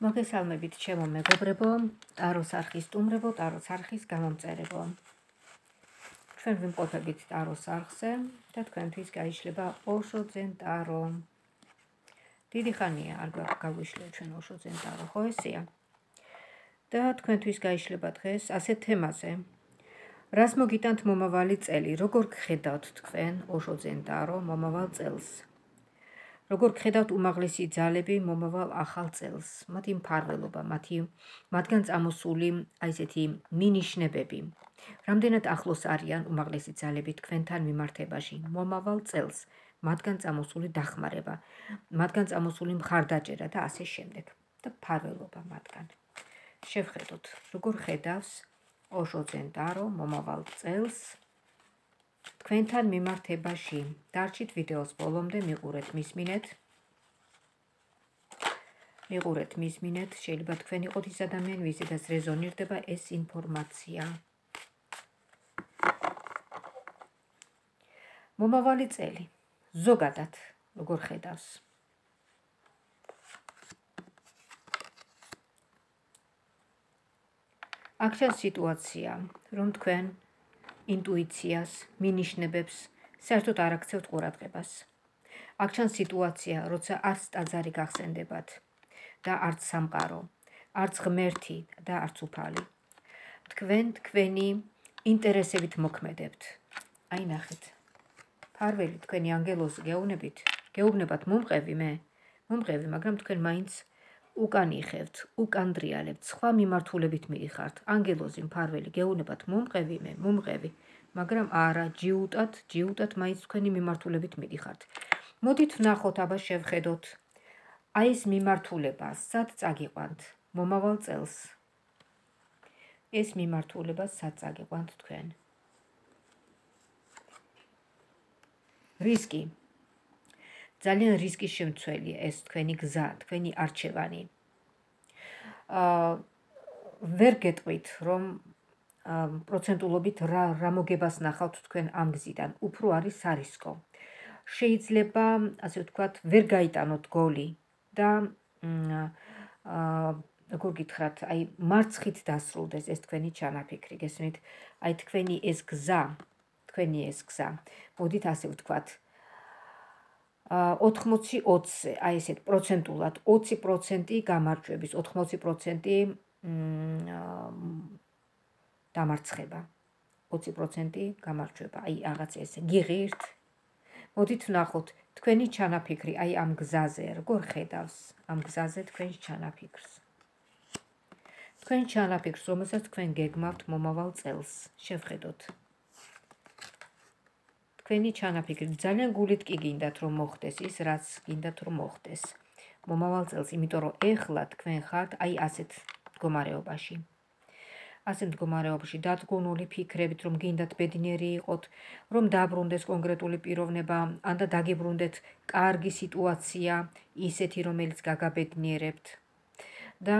მოგესალმებით ჩემო მეგობრებო, ტაროს არხის სტუმრებო, ტაროს არხის გამომწერებო. ჩვენ ვიმყოფებით ტაროს არხზე და თქვენთვის გაიშლება ოშოძენ ტარო. დიდი ხანია არ გაგვიშლია ჩვენ ოშოძენ ტარო, ხო ესეა? და თქვენთვის გაიშლება დღეს ასეთ თემაზე. რას მოგიტანთ მომავალი წელი, როგორ გხედავთ თქვენ ოშოძენ ტარო მომავალ წელს? როგორ გხედავთ უმაღლესი ძალები მომავალ ახალ წელს, მათი მფარველობა, მათგან წამოსული აი ესეთი მინიშნებები. რამდენად ახლოს არიან უმაღლესი ძალები თქვენთან მიმართებაში მომავალ წელს, მათგან წამოსული დახმარება, მათგან წამოსული მხარდაჭერა და ასე შემდეგ და მფარველობა მათგან. შევხედოთ, როგორ ხედავს ოშოძენ ტარო მომავალ წელს თქვენთან მიმართებაში. დარჩით ვიდეოს ბოლომდე, მიყურეთ, მისმინეთ, შეიძლება თქვენ იყოთ ის ადამიანი, ვიზედაც რეზონირდება ეს ინფორმაცია. მომავალი წელი, ზოგადად, როგორ ხედავს? აქ ჩანს სიტუაცია, რომ თქვენ ინტუიციას, მინიშნებებს, საერთოდ არ აქცევთ ყურადღებას. აქ ჩანს სიტუაცია, როცა არც ტაძარი გახსენდებათ და არც სამყარო, არც ღმერთი და არც უფალი. თქვენ თქვენი ინტერესებით მოქმედებთ. აი ნახეთ. ფარველი თქვენი ანგელოზი გეუბნებათ მომყევი მე, მაგრამ თქვენ მაინც უკან იხევთ, უკან დრიალებთ, სხვა მიმართულებით მიიხართ. ანგელოზი მფარველი გეუბნებათ მომყევი მე, მაგრამ არა, ჯიუტად მაინც თქვენი მიმართულებით მიიხართ. მოდით ვნახოთ, აბა შევხედოთ. აი ეს მიმართულება, სად წაგიყვანთ მომავალ წელს? ეს მიმართულება სად წაგიყვანთ თქვენ? რისკი. ძალიან რისკის შემცველია ეს თქვენი გზა, თქვენი არჩევანი. ვერ გეტყვით, რომ პროცენტულობით რა მოგებას ნახავთ თქვენ ამ გზიდან, უფრო არის სარისკო. შეიძლება, ასე ვთქვათ, ვერ გაიტანოთ გოლი და როგორ გითხრათ, აი მარცხით დასრულდეს ეს თქვენი ჩანაფიქრი, გესმით? აი თქვენი ეს გზა, მოდით ასე ვთქვათ, 80-20-ზე, აი ესეთ პროცენტულად 20% გამარჯვების, 80% დამარცხება, 20% გამარჯვება, აი რაღაც ესე, გიღირთ? მოდით ვნახოთ თქვენი ჩანაფიქრი, აი ამ გზაზე, როგორ ხედავს ამ გზაზე თქვენს ჩანაფიქრს. თქვენ ჩანაფიქრს, რომელსაც თქვენ გეგმავთ მომავალ წელს, შევხედოთ. თქვენი ჩანაფიქრი ძალიან გულით კი გინდათ რომ მოხდეს ის, რაც გინდათ რომ მოხდეს მომავალ წელს, იმიტომ რომ ეხლა თქვენ ხართ აი ასეთ მდგომარეობაში. დადგუნული ფიქრებით, რომ გინდათ ბედნიერი იყოთ, რომ დაბრუნდეს კონკრეტული პიროვნება, ან და დაგიბრუნდეთ კარგი სიტუაცია, ისეთი, რომელიც გაგაბედნიერებთ. და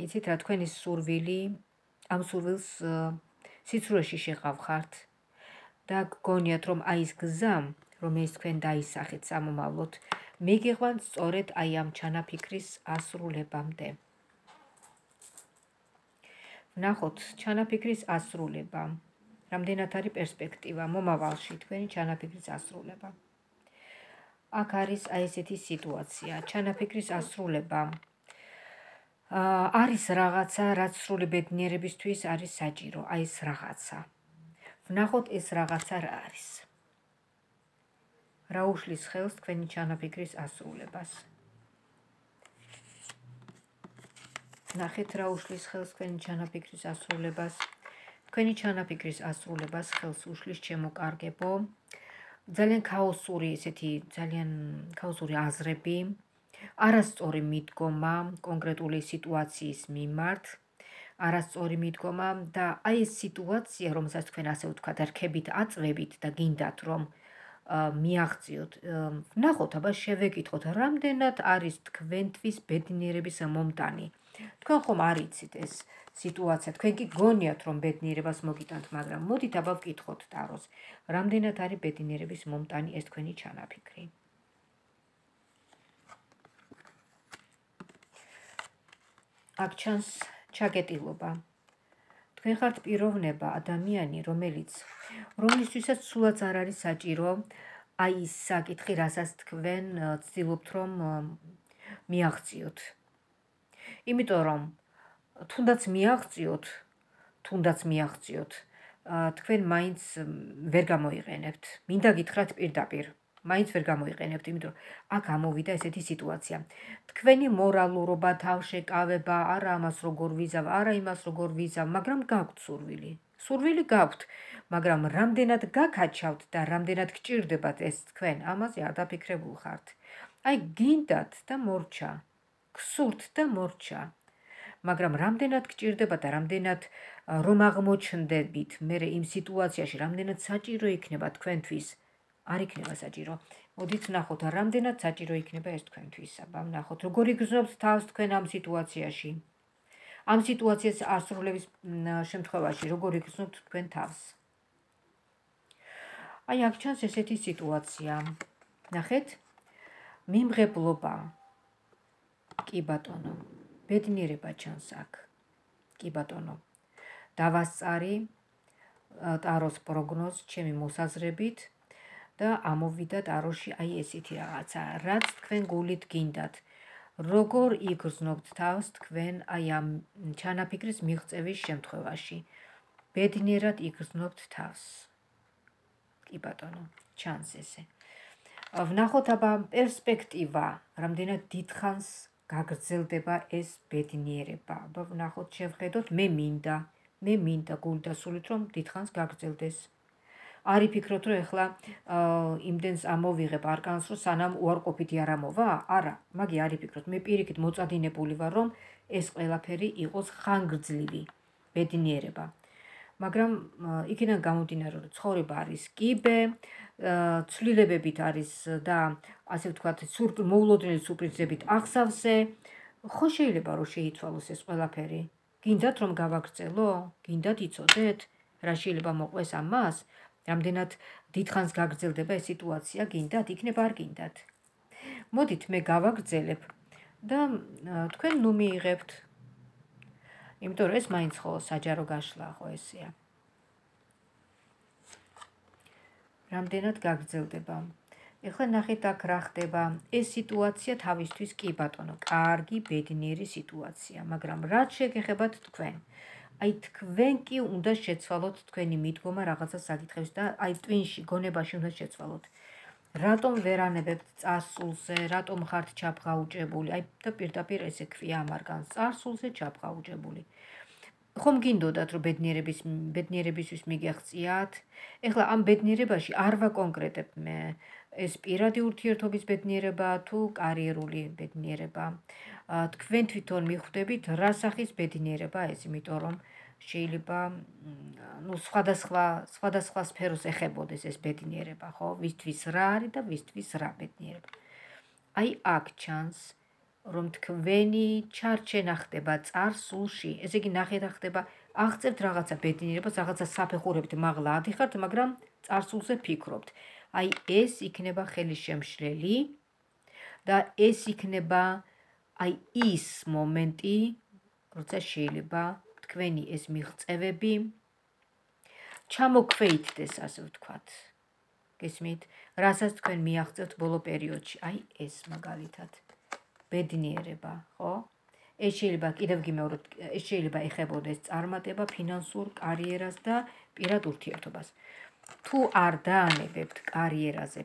იცით რა, თქვენი სურვილი, ამ სურვილს სიცრუეში შეყავხართ და გგონიათ, რომ აი ეს გზა, რომელიც თქვენ დაისახეთ სამომავლოდ, მიგიყვანთ სწორედ აი ამ ჩანაფიქრის ასრულებამდე. ვნახოთ ჩანაფიქრის ასრულება. რამდენად არის პერსპექტივა მომავალში თქვენი ჩანაფიქრის ასრულება. აქ არის აი ესეთი სიტუაცია, ჩანაფიქრის ასრულება. არის რაღაცა, რაც სრული ბედნიერებისთვის არის საჭირო, აი ეს რაღაცა. ვნახოთ ეს რაღაცა რა არის. რა უშლის ხელს თქვენი ჩანაფიქრის ასრულებას. ნახეთ რა უშლის ხელს თქვენი ჩანაფიქრის ასრულებას. თქვენი ჩანაფიქრის ასრულებას ხელს უშლის, ჩემო კარგებო, ძალიან ქაოსური აზრები, არასწორი მიდგომა კონკრეტული სიტუაციის მიმართ, არასწორი მიდგომა და აი ეს სიტუაცია, რომელსაც თქვენ ასე ვთქვათ, რქებით აწვევით და გინდათ რომ მიაღწიოთ. ვნახოთ, აბა შევეკითხოთ, რამდენად არის თქვენთვის ბედნიერების მომტანი. თქვენ ხომ არ იცით ეს სიტუაცია, თქვენ კი გონიათ რომ ბედნიერებას მოგიტანთ, მაგრამ მოდით აბა ვკითხოთ ტაროს, რამდენად არის ბედნიერების მომტანი ეს თქვენი ჩანაფიქრი. აქ ჩანს ჩაგეტილობა. თქვენ ხართ პიროვნება, ადამიანი, რომლისთვისაც სულაც არ არის საჭირო აი ის საკითხი, რასაც თქვენ ცდილობთ რომ მიაღწიოთ. იმიტომ რომ თუნდაც მიაღწიოთ, თქვენ მაინც ვერ გამოიყენებთ. მინდა გითხრათ პირდაპირ, მაინც ვერ გამოიყენებთ, იმიტომ რომ აქ ამოვიდა ესეთი სიტუაცია. თქვენი მორალურობა, თავშეკავება, არა ამას როგორ ვიზავ, არა იმას როგორ ვიზავ, მაგრამ გაქვთ სურვილი. სურვილი გაქვთ, მაგრამ რამდენად გაქაჩავთ და რამდენად გჭირდებათ ეს თქვენ, ამაზე არ დაფიქრებულ ხართ. აი გინდათ და მორჩა, გსურთ და მორჩა. მაგრამ რამდენად გჭირდება და რამდენად რომ აღმოჩნდებით მე იმ სიტუაციაში, რამდენად საჭირო იქნება თქვენთვის, არ იქნება საჭირო. მოდით ვნახოთ, რამდენად საჭირო იქნება ეს თქვენთვის. აბა ვნახოთ, როგორ იგრძნობთ თავს თქვენ ამ სიტუაციაში. ამ სიტუაციას ასრულების შემთხვევაში, როგორ იგრძნობთ თქვენ თავს. აი აქ ჩანს ესეთი სიტუაცია. ნახეთ, მიმღებლობა. კი ბატონო. ბედნიერება ჩანს აქ. კი ბატონო. დავასწარი ტაროს პროგნოზ ჩემი მოსაზრებით და ამოვიდა ტაროში აი ესეთი რაღაცა, რაც თქვენ გულით გინდათ. როგორ იგრძნობთ თავს თქვენ აი ამ ჩანაფიქრის მიღწევის შემთხვევაში. ბედნიერად იგრძნობთ თავს. კი ბატონო, ჩანს ესე. ვნახოთ აბა პერსპექტივა, რამდენად დიდხანს გაგრძელდება ეს ბედნიერება. აბა ვნახოთ, შევხედოთ, მე მინდა გულით და სულით რომ დიდხანს გაგრძელდეს. არ იფიქროთ, რომ ეხლა იმდენს ამოვიღებ არკანს, რომ სანამ უარყოფითი არ ამოვა? არა, მაგი არ იფიქროთ. მე პირიქით მოწადინებული ვარ, რომ ეს ყველაფერი იყოს ხანგრძლივი ბედნიერება. მაგრამ იქიდან გამომდინარე, რომ ცხოვრება არის კიბე, ცვლილებებით არის და ასე ვთქვათ, მოულოდნელი სურპრიზებით აღსავსე, ხო შეიძლება რომ შეიცვალოს ეს ყველაფერი. გინდათ რომ გავაგრძელო? გინდათ იცოდეთ? რა შეიძლება მოყვეს ამას? რამდენად დიდხანს გაგრძელდება ეს სიტუაცია? გინდათ? იქნება არ გინდათ? მოდით მე გავაგრძელებ და თქვენ ნუ მიიღებთ. იმიტომ რომ ეს მაინც ხო საჯარო გაშლა ხო ესეა. რამდენად გაგრძელდება. ეხლა ნახეთ აქ რა ხდება. ეს სიტუაცია თავისთვის კი ბატონო, კარგი ბედნიერი სიტუაცია, მაგრამ რაც შეგეხებათ თქვენ. აი თქვენ კი უნდა შეცვალოთ თქვენი მიდგომა რაღაცა საკითხებს და აი ტვინში, გონებაში უნდა შეცვალოთ. რატომ ვერ ანებებთ წარსულზე, რატომ ხართ ჩაფღაუჭებული? აი და პირდაპირ ესე ქვია ამ არგანს, წარსულზე ჩაფღაუჭებული. ხომ გინდოდათ რომ ბედნიერებისთვის მიგეღწიათ? ეხლა ამ ბედნიერებაში არ ვაკონკრეტებ მე ეს პირადი ურთიერთობის ბედნიერება თუ კარიერული ბედნიერება. თქვენ თვითონ მიხვდებით რა სახის ბედნიერება ეს, იმიტომ რომ შეიძლება სხვადასხვა სფეროს ეხებოდეს ეს ბედნიერება, ხო? ვისთვის რა არის და ვისთვის რა ბედნიერება. აი აქ ჩანს რომ თქვენი ჩარჩენა ხდება წარსულში, ესე იგი ნახეთ რა ხდება, აღწევთ რაღაცა ბედნიერებას, რაღაცა საფეხურებით მაღლა ადიხართ, მაგრამ წარსულზე ფიქრობთ. აი ეს იქნება ხელისშემშლელი და ეს იქნება აი ის მომენტი, როცა შეიძლება თქვენი ეს მიღწევები ჩამოქვეითდეს, ასე ვთქვათ. გესმით? რასაც თქვენ მიაღწევთ ბოლო პერიოდში, აი ეს მაგალითად. ბედნიერება, ხო? ეს შეიძლება კიდევ გიმეოროთ, ეს შეიძლება ეხებოდეს წარმატება, ფინანსურ კარიერას და პირად ურთიერთობას. თუ არ დაანებებთ კარიერაზე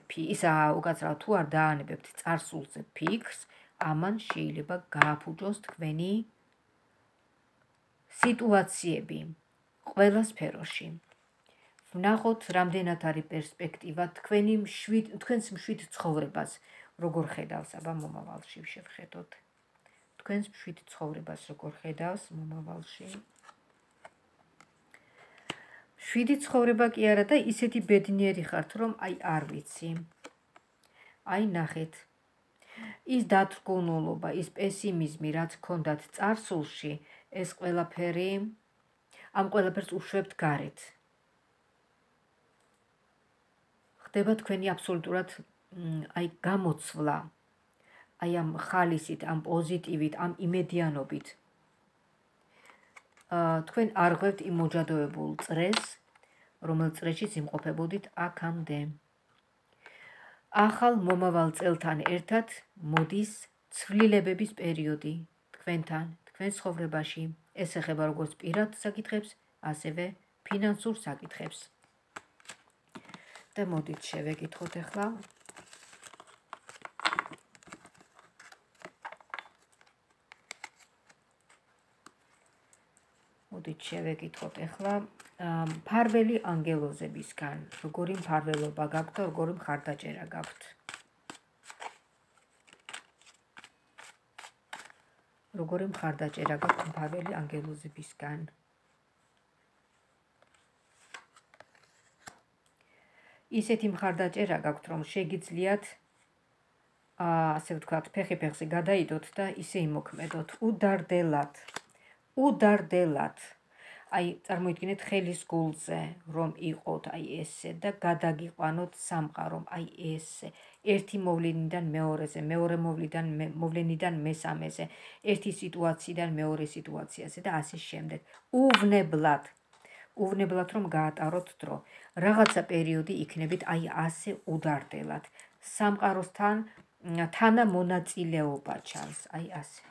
უკაცრავად თუ არ დაანებებთ წარსულზე ფიქრს, ამან შეიძლება გააფუჭოს თქვენი სიტუაციები ყველა სფეროში. ვნახოთ, რამდენად არის პერსპექტივა თქვენს მშვიდ ცხოვრებას, როგორ ხედავს, აბა მომავალში შევხედოთ. თქვენს მშვიდ ცხოვრებას როგორ ხედავს მომავალში. მშვიდი ცხოვრება კი არა და ისეთი ბედნიერი ხართ, რომ აი არ ვიცი. აი ნახეთ. ის დათრგუნულობა, ის პესიმიზმი, რაც გქონდათ წარსულში, ეს ყველაფერი, ამ ყველაფერს უშვებთ გარეთ. ხდება თქვენი აბსოლუტურად აი გამოცვლა, აი ამ ხალისით, ამ პოზიტივით, ამ იმედიანობით. თქვენ არ ღვევთ იმ მოჯადოებულ წრეს, რომელ წრეშიც იმყოფებოდით აქამდე. ახალ მომავალ წელთან ერთად მოდის ცვლილებების პერიოდი თქვენთან, თქვენ ცხოვრებაში. ეს ეხება როგორც პირად საკითხებს, ასევე ფინანსურ საკითხებს. და მოდით შევეკითხოთ ახლა. მოდით შევეკითხოთ ახლა მფარველი ანგელოზებისგან, როგორი მფარველობა გაქვთ და როგორი მხარდაჭერა გაქვთ. როგორი მხარდაჭერა გაქვთ მფარველი ანგელოზებისგან. ისეთი მხარდაჭერა გაქვთ, რომ შეგიძლიათ ასე ვთქვათ, ფეხი ფეხზე გადაიდოთ და ისე იმოქმედოთ, უდარდელად. აი, წარმოიდგინეთ ხელის გულზე, რომ იყოთ აი ესე და გადაგიყვანოთ სამყარო, აი ესე. ერთი მოვლენიდან მეორეზე, მეორე მოვლენიდან მესამეზე, ერთი სიტუაციიდან მეორე სიტუაციაზე და ასე შემდეგ. უვნებლად რომ გაატაროთ დრო. რაღაცა პერიოდი იქნებით აი ასე უდარდელად. სამყაროსთან თანამონაწილეობა ჩანს, აი ასე.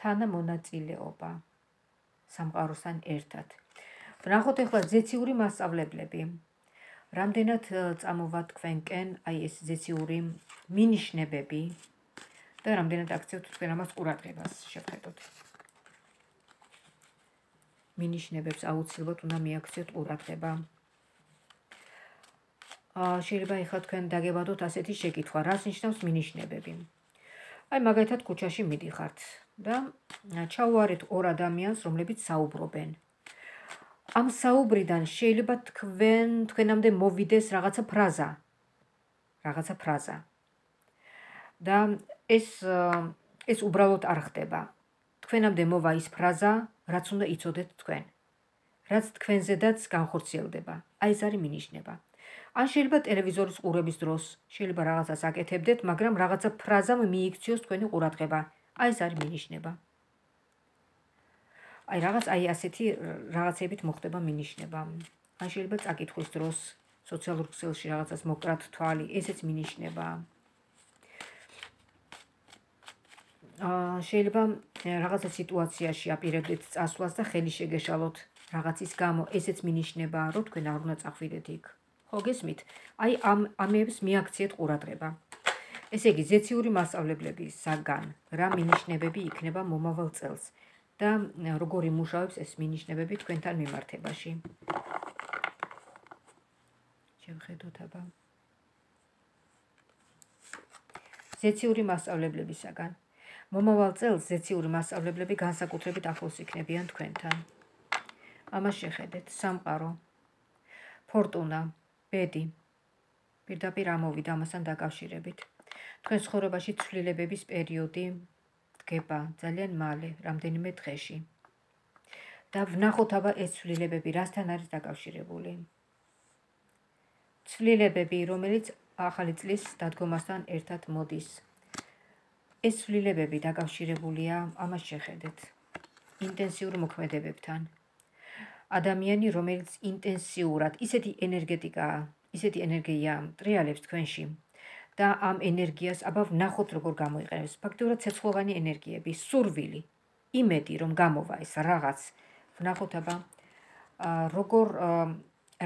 თანამონაწილეობა სამყაროსთან ერთად. ვნახოთ ახლა ზეციური მასწავლებლები. რამდენად წამოვა თქვენკენ აი ეს ზეციური მინიშნებები და რამდენად აქცევთ თქვენ ამას ყურადღებას შევხედოთ. მინიშნებებს აუცილებლად უნდა მიაქციოთ ყურადღება. შეიძლება ახლა თქვენ დაგებადოთ ასეთი შეკითხვა, რას ნიშნავს მინიშნებები? აი მაგალითად ქუჩაში მიდიხართ და ჩაუარეთ ორ ადამიანს, რომლებიც საუბრობენ. ამ საუბრიდან შეიძლება თქვენამდე მოვიდეს რაღაცა ფრაზა. და ეს უბრალოდ არ ხდება. თქვენამდე მოვა ის ფრაზა, რაც უნდა იცოდეთ თქვენ. რაც თქვენზედაც განხორციელდება. აი ეს არის მინიშნება. ან შეიძლება ტელევიზორის ყურების დროს შეიძლება რაღაცას აკეთებდეთ, მაგრამ რაღაცა ფრაზამ მიიქციოს თქვენი ყურადღება. აი ეს არის მინიშნება. აი რაღაც აი ასეთი რაღაცებით მოხდება მინიშნება. ან შეიძლება წაკითხვის დროს სოციალურ ქსელში რაღაცას მოკრათ თვალი, ესეც მინიშნება. შეიძლება რაღაცა სიტუაციაში აპირებდეთ წასვლას და ხელი შეგეშალოთ რაღაცის გამო, ესეც მინიშნება, რომ თქვენ არ უნდა წახვიდეთ იქ. ხო გესმით? აი ამებს მიაქციეთ ყურადღება. ესე იგი, ზეციური მასწავლებლებისაგან რა მინიშნებები იქნება მომავალ წელს და როგორ იმუშავებს ეს მინიშნებები თქვენთან მიმართებაში. შევხედოთ აბა. ზეციური მასწავლებლებისაგან. მომავალ წელს ზეციური მასწავლებლები განსაკუთრებით ახლოს იქნებიან თქვენთან. ამას შეხედეთ, სამყარო, ფორტუნა, ბედი, პირდაპირ ამოვიდა ამასთან დაკავშირებით. თქვენ ცხოვრებაში ცვლილებების პერიოდი დგება ძალიან მალე, რამდენიმე დღეში. და ვნახოთ აბა ეს ცვლილებები რასთან არის დაკავშირებული. ცვლილებები, რომელიც ახალი წლის დადგომასთან ერთად მოდის. ეს ცვლილებები დაკავშირებულია, ამას შეხედეთ, ინტენსიურ მოქმედებებთან. ადამიანი, რომელიც ინტენსიურად, ისეთი ენერგია ტრიალებს თქვენში და ამ ენერგიას აბა ვნახოთ როგორ გამოიყენებს. ფაქტიურად ცეცხლოვანი ენერგიები, სურვილი, იმედი რომ გამოვა ეს რაღაც. ვნახოთ აბა როგორ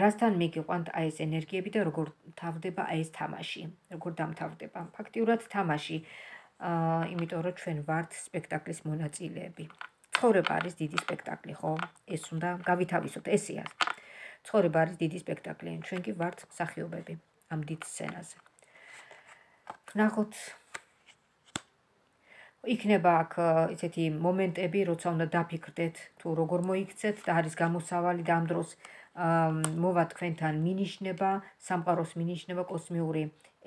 რასთან მიგიყვანთ აი ეს ენერგიები და როგორ თავდება აი ეს თამაში, როგორ დამთავრდება. ფაქტიურად თამაში, იმიტომ რომ ჩვენ ვართ სპექტაკლის მონაწილეები. ცხოვრება არის დიდი სპექტაკლი, ხო? ეს უნდა გავითავისოთ, ესეა. ცხოვრება არის დიდი სპექტაკლი, ჩვენ კი ვართ მსახიობები ამ დიდ სცენაზე. ვნახოთ, იქნება აქ ისეთი მომენტები, როცა უნდა დაფიქრდეთ, თუ როგორ მოიქცეთ და არის გამოსავალი და ამ დროს მოვა თქვენთან მინიშნება, სამყაროს მინიშნება კოსმიური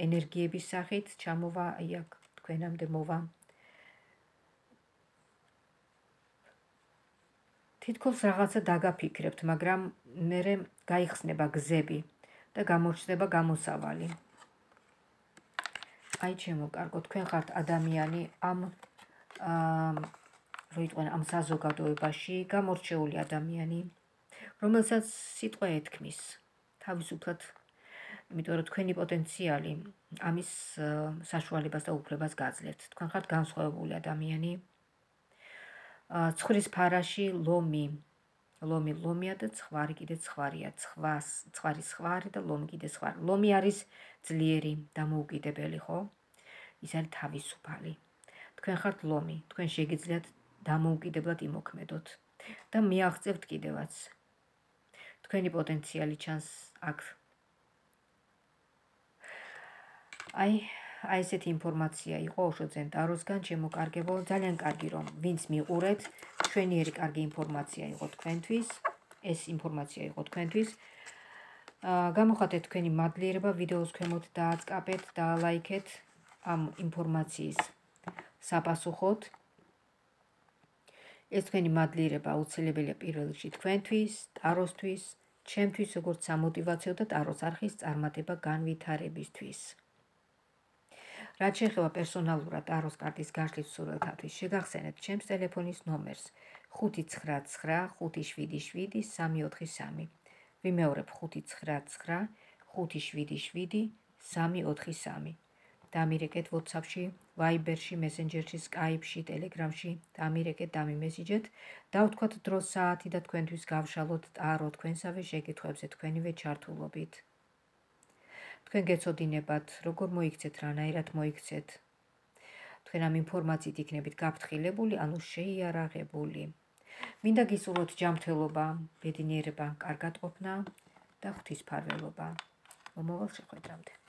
ენერგიების სახით, ჩამოვა აი აქ თქვენამდე მოვა. თითქოს რაღაცა დაგაფიქრებთ, მაგრამ მერე გაიხსნება გზები და გამოჩნდება გამოსავალი. აი ჩემო კარგო, თქვენ ხართ ადამიანი ამ რო იყვნენ ამ საზოგადოებაში გამორჩეული ადამიანი, რომელსაც სიტყვა ეთქმის თავისუფლად, იმიტომ რომ თქვენი პოტენციალი ამის საშუალებას და უფლებას გაძლევთ. თქვენ ხართ განსხვავებული ადამიანი. ცხვრის ფარაში ლომი ლომია და ცხვარი კიდე ცხვარია. ცხვარი ცხვარი და ლომი კიდე ცხვარი. ლომი არის ძლიერი, დამოუკიდებელი, ხო? ის არის თავისუფალი. თქვენ ხართ ლომი, თქვენ შეგიძლიათ დამოუკიდებლად იმოქმედოთ და მიაღწევთ კიდევაც. თქვენი პოტენციალი ჩანს აქ. აი ესეთი ინფორმაცია იყო ოშოძენ ტაროსგან, შემოკარგებო, ძალიან კარგი რომ ვინც მიყურეთ, ჩვენიერი კარგი ინფორმაცია იყო თქვენთვის, ეს ინფორმაცია იყო თქვენთვის. გამოხატეთ თქვენი მადლიერება, ვიდეოს ქვემოთ დააწყაბეთ, დაალაიქეთ ამ ინფორმაციის საპასუხოდ. ეს თქვენი მადლიერება აუცილებელია პირველ რიგში თქვენთვის, ტაროსთვის, ჩემთვის როგორც სამოტივაციო და ტაროს არხის წარმატება განვითარებისთვის. რაც შეეხება პერსონალურად ტაროს კარტის გაშლის მსურველთათვის, შეგახსენებთ ჩემს ტელეფონის ნომერს 599577343. ვიმეორებ 599577343. დამირეკეთ WhatsApp-ში, Viber-ში, Messenger-ში, Skype-ში, Telegram-ში, დამირეკეთ, დამიმესიჯეთ, დავთქვათ დრო საათი და თქვენთვის გავშალოთ ტარო თქვენსავე შეკითხვებზე თქვენივე ჩართულობით. თქვენ გეცოდინებათ, როგორ მოიქცეთ, რანაირად მოიქცეთ. თქვენ ამ ინფორმაციით იქნებით გაფრთხილებული, ანუ შეიარაღებული. მინდა გისურვოთ ჯანმრთელობა, ბედნიერება, კარგად ყოფნა და ღვთისმფარველობა. მომავალ შეხვედრამდე.